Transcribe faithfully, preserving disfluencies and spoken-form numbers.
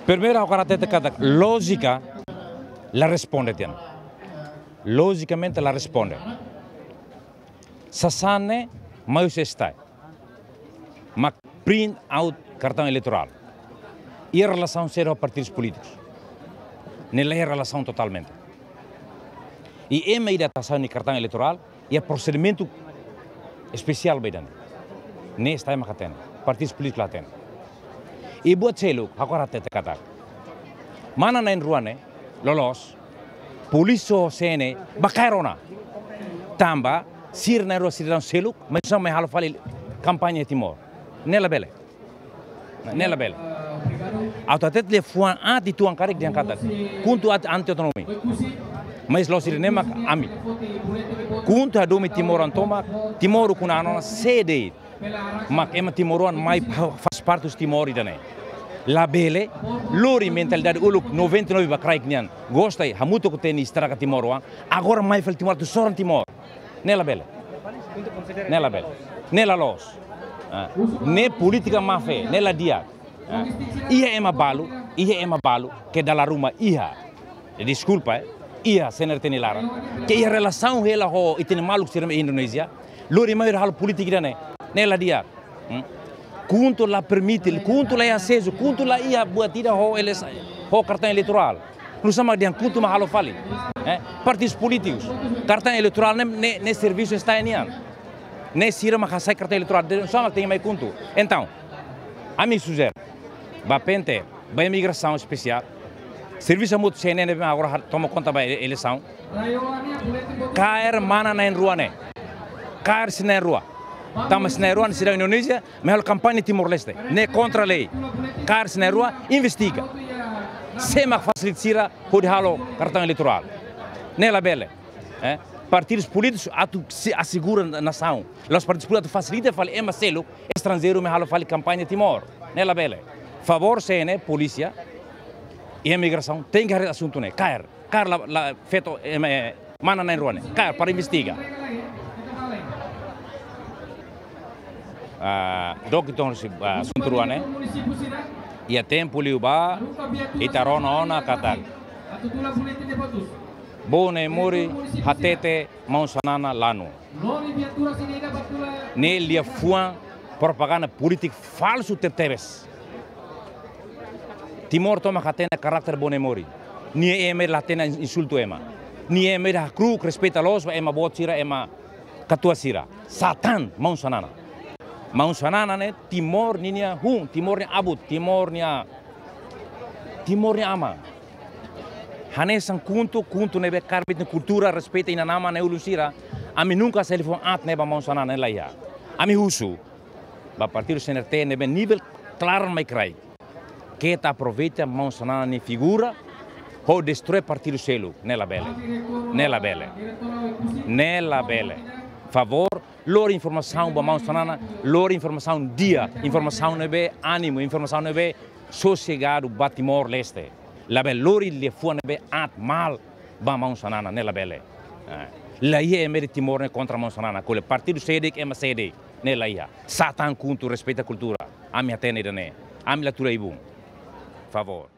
Primeiru, ha'u hakarak hatete katak lójika la responde tiha ona. Lojikamente la responde. Sasán ne'e mai husi STAE. Mak print out kartaun eleitorál. Iha relasaun sériu ho partidus polítikus. Ne'e la iha relasaun totalmente. I ema ida atu hasai nia kartaun eleitorál, iha prosedimentu espesiál ba ida-ne'e. Ne'e STAE mak hatene, partidus polítikus la hatene. I buat seluk, ha'u hakarak hatete katak mana na'in-rua ne'e, loloos, polísia ho CNE bá kaer ona. Tanba sira na'in-rua sidadaun seluk, mas sira mai halo fali kampaña Timor. Ne'e labele. Ne'e labele. Atu hatete liafuan aat uitoan karik dehan katak KHUNTO aat anti-autonomia. Mas la'ós ida-ne'e mak ami. KHUNTO hadomi timoroan tomak, Timor ukun-an ona sé de'it. Mak ema timoroan mai pa-, faz parte husi Timor ida-ne'e. Labele, lori mentalidade uluk noventa e nove ba kraik nian. Gosta i hamutuk ho TNI estraga Timor oan. Agora mai fali Timor atu soran Timor. Ne'e labele. Ne'e labele. Ne'e la loos. Ah. Ne'e polítika má-fé, ne'e la di'ak. Ah. Iha ema balu, iha ema balu, ke dala ruma iha. Deskulpa, eh. Iha CNRT nia laran. Ke iha relasaun hela ho ita-nia maluk sira mai Indonézia. Lori mai halo polítika ida-ne'e. Ne'e la di'ak. Hmm? KHUNTO la permite, KHUNTO la iha asesu, KHUNTO la iha buat ida ho eleisaun, ho kartaun eleitorál. Nusá mak dehan KHUNTO mak halo fali. Eh, partidus polítikus. Kartaun eleitorál ne'e, ne'e, ne'e servisu STAE nian. Ne'e sira mak hasai kartaun eleitorál. Dehan nusá mak tenke mai KHUNTO. Entaun, ami sujere. Ba PNTL, ba imigrasaun espesiál. Servisu hamutuk CNE ne'ebé agora ha-, toma konta ba ele-, eleisaun. Kaer mana na'in-rua ne'e. Kaer sira na'in-rua. Tanba sira na'in-rua ne'e sidadaun Indonézia, mai halo kampaña Timor-Leste. Ne'e kontra lei. Kaer sira na'in-rua, investiga. Sé mak fasilita sira hodi halo kartaun eleitorál. Ne'e labele. Eh? Partidus polítikus atu se asegura na-, nasaun. La'ós partidus polítikus atu fasilita fali ema seluk estranjeiru mai halo fali kampaña Timor. Ne'e labele. Favór CNE, polísia i imigrasaun tenke haree asuntu ne'e. Kaer. Kaer la, la feto, em, eh, mana na'in-rua ne'e. Kaer para investiga. Ah, dook uitoan husi, ah, asuntu rua ne'e. Iha tempu liubá, ita rona ona katak Bone Mori hatete maun Xanana lanu. Ne'e liafuan propaganda polítika falsu tebetebes. Timor tomak hatene karakter Bone Mori. Nia ema la hatene insultu ema. Nia ema hakru'uk, respeita loos ba ema boot sira, ema katuas sira. Sá tan maun Xanana. Maun Xanana ne'e Timor ninia hun, Timor nia abut, Timor nia, Timor nia aman. Hanesan KHUNTO, KHUNTO ne'ebé kaer nia kultura, respeita inan-aman nia ulun sira. Ami nunka hasai liafuan aat ne'e ba maun Xanana, ne'e la iha. Ami husu ba partidu CNRT ne'ebé nivel klaran mai kraik. Keta aproveita maun Xanana nia figura hodi destroi partidu seluk, ne'e labele. Ne'e labele. Ne'e labele. Favór, lori informasaun ba maun Xanana, lori informasaun di'ak, informasaun ne'ebé ánimu, informasaun ne'ebé sosegadu ba Timor-Leste. Labele lori liafuan ne'ebé aat, mal ba maun Xanana, ne'e labele. Eh, la iha ema ida Timor ne'e kontra maun Xanana, ko'alia partidu sé de'it, ema sé de'it, ne'e la iha. Sá tan KHUNTO, respeita kultura. Ami hatene ida-ne'e. Ami la tuda ibun. Favór.